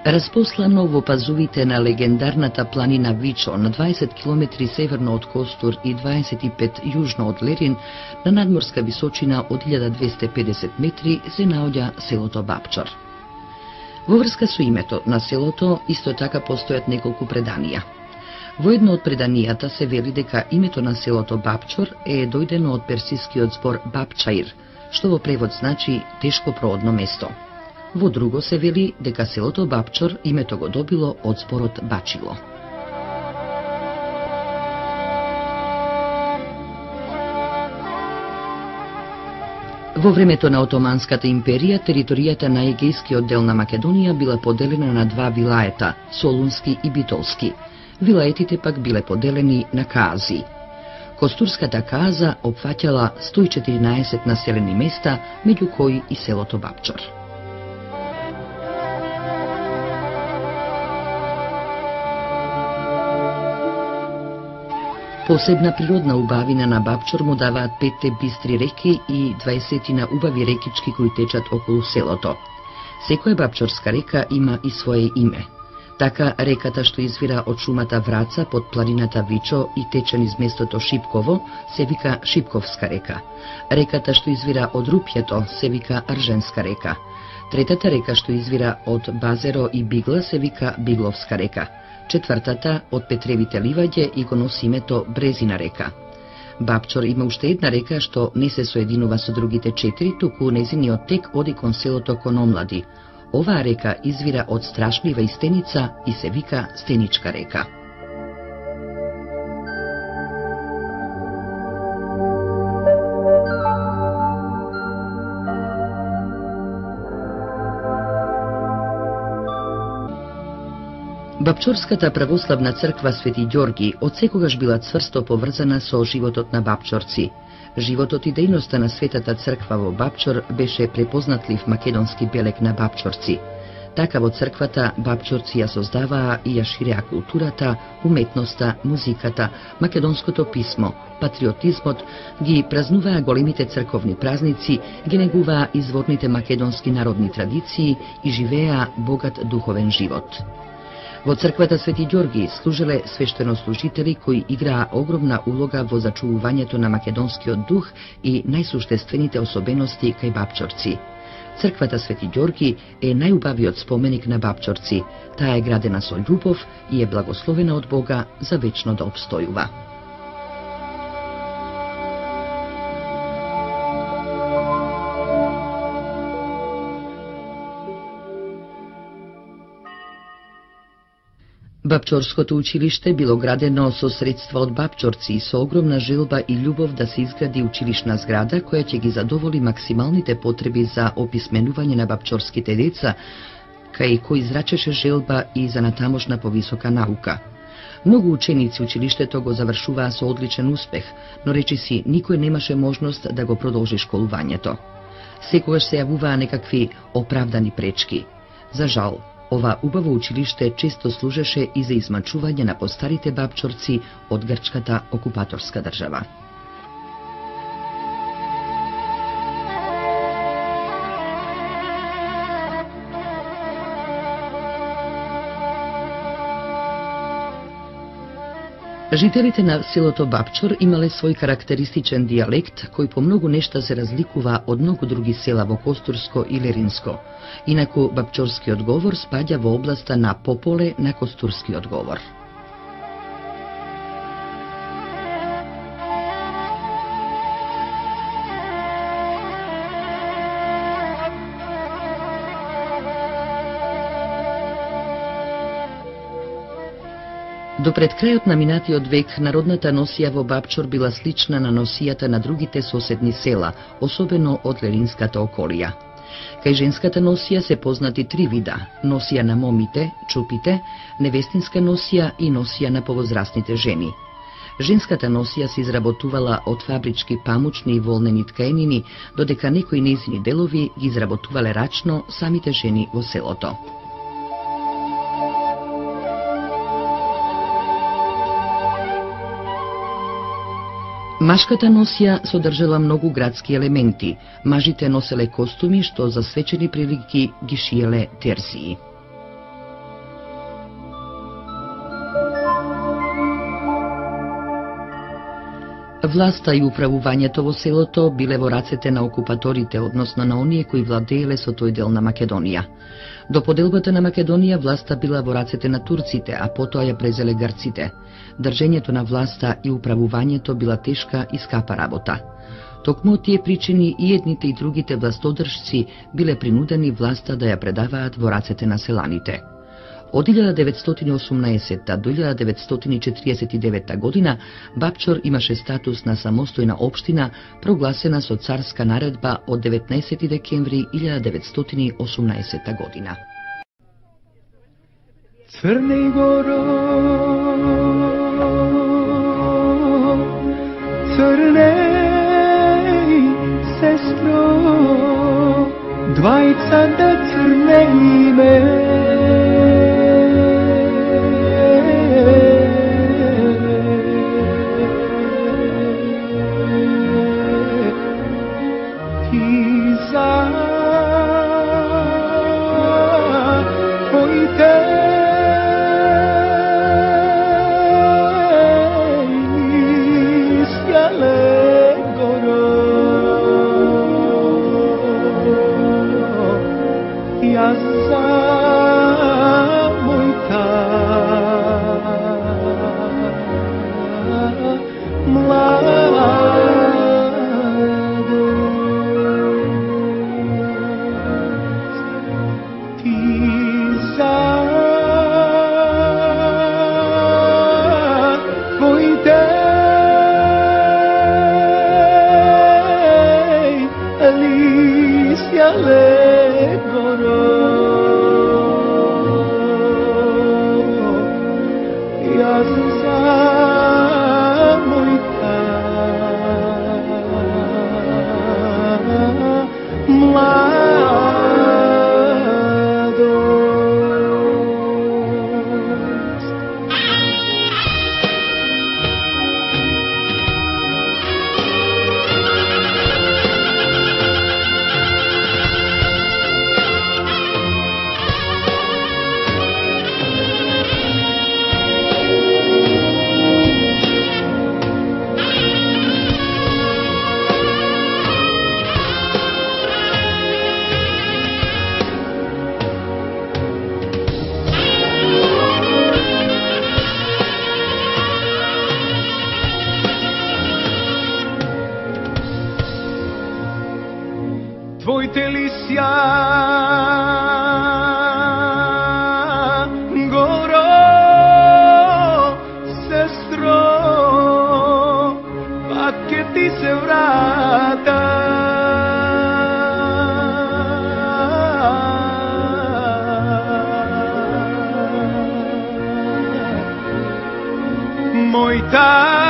Распослано во пазувите на легендарната планина Вичо на 20 км северно од Костур и 25 јужно од Лерин, на надморска височина од 1250 метри се наоѓа селото Бапчор. Во врска со името на селото исто така постојат неколку преданија. Во едно од преданијата се вели дека името на селото Бапчор е дојдено од персискиот збор Бапчаир, што во превод значи тешко проодно место. Во друго се вели дека селото Бапчор името го добило од зборот бачило. Во времето на Отоманската империја, територијата на егејскиот дел на Македонија била поделена на два вилаета, Солунски и Битолски. Вилаетите пак биле поделени на каази. Костурската кааза опфаќала 114 населени места, меѓу кои и селото Бапчор. Посебна природна убавина на Бапчор му даваат 5 бистри реки и 20 убави рекички кои течат околу селото. Секоја бапчорска река има и свое име. Така, реката што извира од шумата Враца под планината Вичо и тече низ местото Шипково се вика Шипковска река. Реката што извира од Рупјето се вика Арженска река. Третата река што извира од Базеро и Бигла се вика Бигловска река. Четвртата од Петревите ливаѓе и го носи името Брезина река. Бапчор има уште една река што не се соединува со другите 4, туку незиниот тек оди кон селото Кономлади. Оваа река извира од страшлива и стеница и се вика Стеничка река. Бапчорската православна црква Свети Ѓорги одсекогаш била цврсто поврзана со животот на бапчорци. Животот и дејноста на Светата црква во Бапчор беше препознатлив македонски белег на бапчорци. Така во црквата бапчорци ја создаваа и ја ширеа културата, уметноста, музиката, македонското писмо, патриотизмот, ги празнуваа големите црковни празници, ги негуваа изворните македонски народни традиции и живееа богат духовен живот. Во црквата Свети Ѓорги служеле свештенослужители кои играа огромна улога во зачувувањето на македонскиот дух и најсуштествените особености кај бапчорци. Црквата Свети Ѓорги е најубавиот споменик на бапчорци. Таа е градена со љубов и е благословена од Бога за вечно да обстојува. Бапчорското училиште било градено со средства од бапчорци и со огромна желба и љубов да се изгради училишна зграда која ќе ги задоволи максималните потреби за описменување на бапчорските деца, кај кој израчеше желба и за натамошна повисока наука. Многу ученици училиштето го завршуваа со одличен успех, но речиси никој немаше можност да го продолжи школувањето. Секогаш се јавуваа некакви оправдани пречки. За жал, ова убаво училиште често служеше и за измачување на постарите бапчорци од грчката окупаторска држава. Жителите на селото Бапчор имале свој карактеристичен дијалект кој по многу нешта се разликува од многу други села во Костурско и Леринско. Инаку бапчорскиот говор спаѓа во областа на пополе на костурскиот говор. До пред крајот на минатиот век, народната носија во Бапчор била слична на носијата на другите соседни села, особено од Леринската околија. Кај женската носија се познати 3 вида: носија на момите, чупите, невестинска носија и носија на повозрастните жени. Женската носија се изработувала од фабрички памучни и волнени ткаенини, додека некои нејзини делови ги изработувале рачно самите жени во селото. Машката носија содржала многу градски елементи. Мажите носеле костуми што за свечени прилики ги шиеле терсии. Власта и управувањето во селото биле во рацете на окупаторите, односно на оние кои владееле со тој дел на Македонија. До поделбата на Македонија власта била во рацете на турците, а потоа ја презеле грците. Држењето на власта и управувањето била тешка и скапа работа. Токму од тие причини и едните и другите властодржци биле принудени власта да ја предаваат во рацете на селаните. Од 1918 до 1949 година Бапчор имаше статус на самостојна општина, прогласена со царска наредба од 19 декември 1918 година. Црне горо, црне сестро, двајца да црне име. Твоите лисја горо, сестро, пак ке ти се врата. Мојта